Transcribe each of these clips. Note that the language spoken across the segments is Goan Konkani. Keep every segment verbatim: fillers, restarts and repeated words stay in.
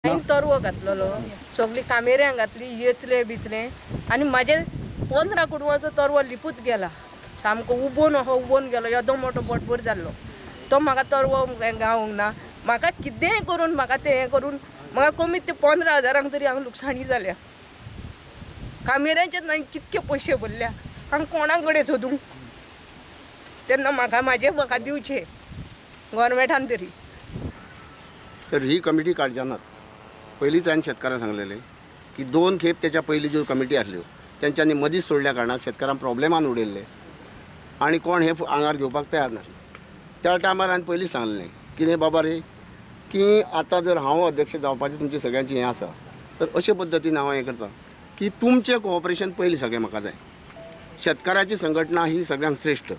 हांवें तरवो घातलेलो, सगळी कामेऱ्यां घातली, येचले बिचले आनी म्हाजे पंदरा कुडवाचो तरवो लिपूच गेला, सामको उबोन असो उबोन गेलो, येदो मोठो बोटभर जाल्लो तो म्हाका तरवो गावूंक ना। म्हाका कितेंय करून म्हाका तें हें करून म्हाका कमीत ते पंदरा हजारांक तरी हांगा लुकसाणी जाल्या। कामेऱ्यांचेच हांवें कितके पयशे भरल्या, हांगा कोणा कडेन सोदूंक तेन्ना म्हाका म्हाजे म्हाका दिवचे गोवोरमेंटान तरी। तर ही कमिटी काडच्या नात। पयलींच हांवें शेतकारांक सांगलेलें की दोन खेप तेच्या पयलीं ज्यो कमिटी आसल्यो तेंच्यांनी मदींच सोडल्या कारणान शेतकारांक प्रॉब्लेमान उडयल्ले आनी कोण हे आंगार घेवपाक तयार नासले। त्या टायमार हांवें पयलीं सांगलें कितें बाबा रे की आतां जर हांव अध्यक्ष जावपाचें तुमचें सगळ्यांचें हें आसा तर अशे पद्दतीन हांव हें करता की तुमचें कोऑपरेशन पयलीं सगळें म्हाका जाय। शेतकाराची संघटना ही सगळ्यांक श्रेश्ठ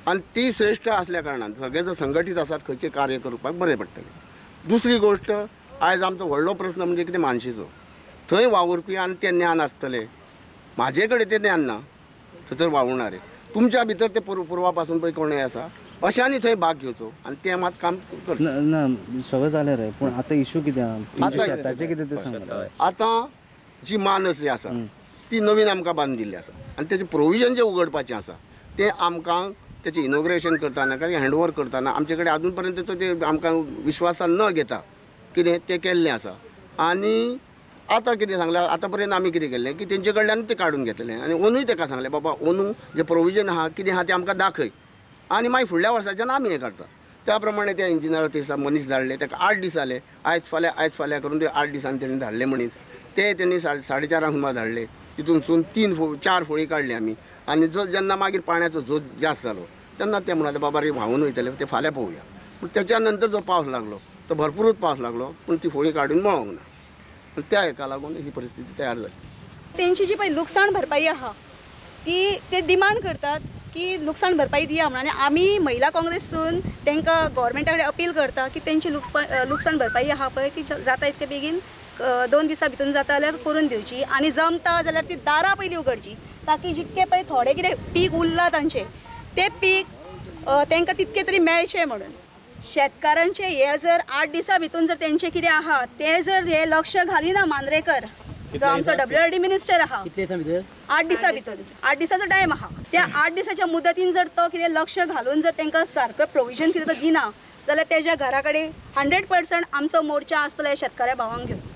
आनी ती श्रेश्ठ आसल्या कारणान सगळे जर संघटीत आसात खंयचें कार्य करपाक बरें पडटलें। दुसरी गोश्ट आयज आमचो व्हडलो प्रस्न म्हणजे कितें मानशीचो, थंय वावुरपी आनी तें ज्ञान आसतलें, म्हाजे कडेन तें ज्ञान ना थंयसर वावुरणारे तुमच्या भितर ते पुर्वा पासून पळय कोणूय आसा अशांनी थंय भाग घेवचो आनी तें मात काम करचें ना। सगळें जालें रे, पूण आतां इशू कितें आहा शेताचें कितें तें सांग। आतां जी मानस जी आसा ती नवीन आमकां बांदिल्ली आसा आनी तेचें प्रोविजन जें उगडपाचें आसा तें आमकां तेचें इनॉग्रेशन करतना कारण हँडओवर करतना आमचे कडेन आजून पर्यंत तेचो ते आमकां विश्वासान न घेता कितें तें केल्लें आसा। आनी आतां कितें सांगलां आतां पर्यंत आमी कितें केल्लें की तेंचे कडल्यान तें काडून घेतलें आनी ओनूय तेका सांगलें बाबा ओनू जें प्रोविजन आहा कितें आहा तें आमकां दाखय आनी मागीर फुडल्या वर्साच्यान आमी हें काडटा। त्या प्रमाणे त्या इंजिनियर ते मनीस धाडले, ताका आठ दीस जाले, आयज फाल्यां आयज फाल्यां करून ते आठ दिसांनी तेणी धाडले मनीस, ते तेणी साडे साडे चारांक सुमार धाडले, तितूनसून तीन फो चार फोळी काडली आमी। आनी जो जेन्ना मागीर पाण्याचो झोत जास्त जालो तेन्ना ते म्हणाले बाबा रे व्हांवून वयतले ते फाल्यां पळोवया, पूण तेच्या नंतर जो पावस लागलो तो भरपूरच पावस लागलो पूण ती फोळी काडून मेळोंक ना, त्या हेका लागून ही परिस्थिती तयार जाली। तेंची जी पळय लुकसाण भरपाई आहा ती ते डिमांड करतात की लुकसाण भरपाई दिया म्हणून, आनी आमी महिला काँग्रेसून तांकां गोवोरमेंटा कडेन अपील करता की तेंची लुकसाण लुकसाण भरपाई आहा पळय ती जाता इतके बेगीन दोन दिसां भितून जाता जाल्यार करून दिवची आनी जमता जाल्यार ती दारां पयलीं उगडची ताकी जितके पळय थोडे कितें पीक उरलां तांचें तें पीक तांकां तितकें तरी मेळचें म्हणून। शेतकारांचें हें जर आठ दिसां भितून जर तेंचें कितें आहा तें जर हें लक्ष घालिना मांद्रेकर जो आमचो डब्ल्यू आर डी मिनिस्टर आहा आठ दिसां भितर आठ दिसाचो टायम आहा, त्या आठ दिसाच्या मुदतीन जर तो कितें लक्ष घालून जर तांकां सारकें प्रोविजन कितें तो दिना जाल्यार तेज्या घरा कडेन हंड्रेड पर्संट आमचो मोर्चा आसतलो ह्या शेतकाऱ्या भावांक घेवन।